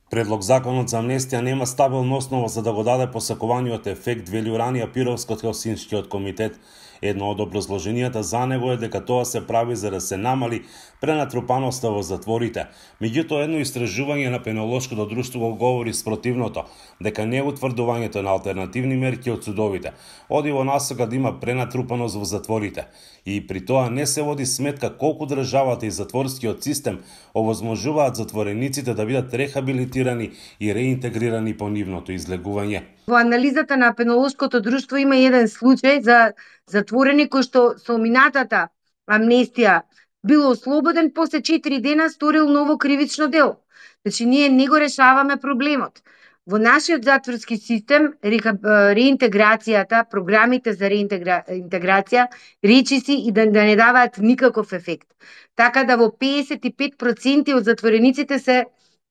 Предлог законот за амнестија нема стабилна основа за да го даде посакуваниот ефект, вели Уранија Пировска од Хелсиншкиот комитет. Едно од образложенијата за него е дека тоа се прави за да се намали пренатрупаноста во затворите. Меѓутоа, едно истражување на Пенолошкото друштво го говори спротивното, дека не утврдувањето на алтернативни мерки од судовите оди во насока да има пренатрупаност во затворите. И при тоа не се води сметка колку државата и затворскиот систем овозможуваат затворениците да бидат рехабилитирани и реинтегрирани по нивното излегување. Во анализата на Пенолошкото друштво има еден случај за затворени кој што со минатата амнестија бил ослободен, после 4 дена сторил ново кривично дело. Значи, ние не го решаваме проблемот. Во нашиот затворски систем, реинтеграцијата, програмите за реинтеграција, речиси и да не даваат никаков ефект. Така да во 55% од затворениците се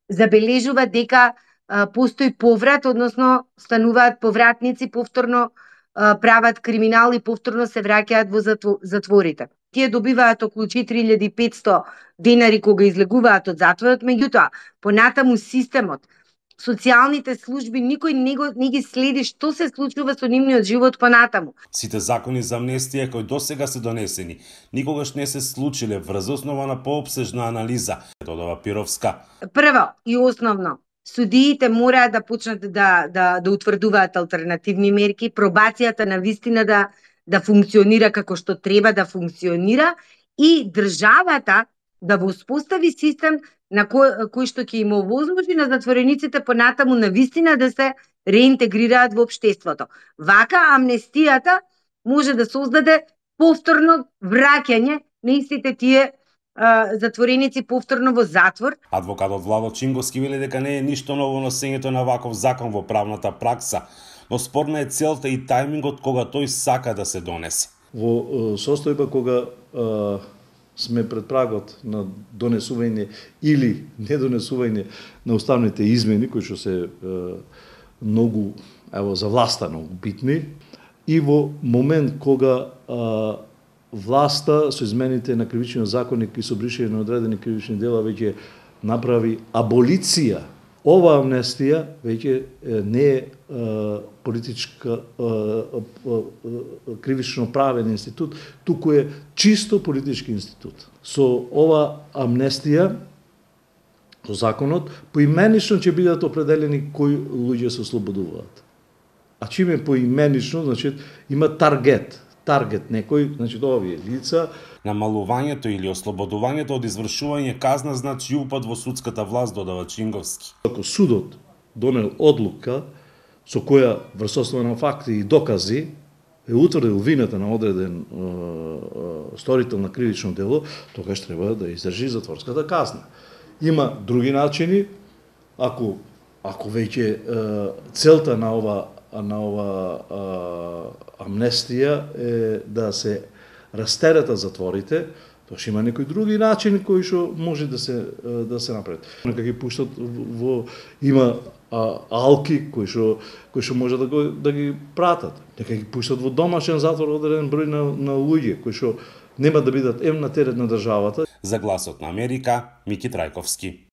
забележува дека постои поврат, односно стануваат повратници, повторно прават криминал и повторно се враќаат во затворите. Тие добиваат околу 4500 денари кога излегуваат од затворот, меѓутоа, понатаму системот, социјалните служби, никој не ги следи што се случува со нивниот живот понатаму. Сите закони за амнестија кои досега се донесени, никогаш не се случиле врз основа на поопсежна анализа, додава Пировска. Прво и основно, судиите мораат да почнат да утврдуваат алтернативни мерки, пробацијата на вистина да функционира како што треба да функционира и државата да го успостави систем на кој што ќе им овозможи на затворениците понатаму на вистина да се реинтегрираат во општеството. Вака амнестијата може да создаде повторно враќање на истите тие затвореници повторно во затвор. Адвокатот Владо Чинговски вели дека не е ништо ново носењето на ваков закон во правната пракса, но спорна е целта и тајмингот кога тој сака да се донесе. Во состојба кога сме пред прагот на донесување или недонесување на уставните измени, кои што се многу, за власта многу битни, и во момент кога власта со измените на кривичниот законник и со бришење на одредени кривични дела веќе направи аболиција. Ова амнестија веќе не е политичка кривично правен институт, туку е чисто политички институт. Со ова амнестија, со законот, поименично ќе бидат определени кои луѓе се ослободуваат. А чиме поименично, значи има таргет некој, значи овие лица. Намалувањето или ослободувањето од извршување казна значи упад во судската власт, додава Чинговски. Ако судот донел одлука со која врз основа на факти и докази е утврдил вината на одреден сторител на кривично дело, тогаш треба да издржи затворската казна. Има други начини, ако веќе целта на ова амнестија е да се растеретат затворите, тоа има некои други начини кои што може да се направат. Нека ги пуштат има алки кои што може да ги пратат. Нека ги пуштат во домашен затвор одреден број на луѓе кои што нема да бидат на терет на државата. За Гласот на Америка, Мики Трајковски.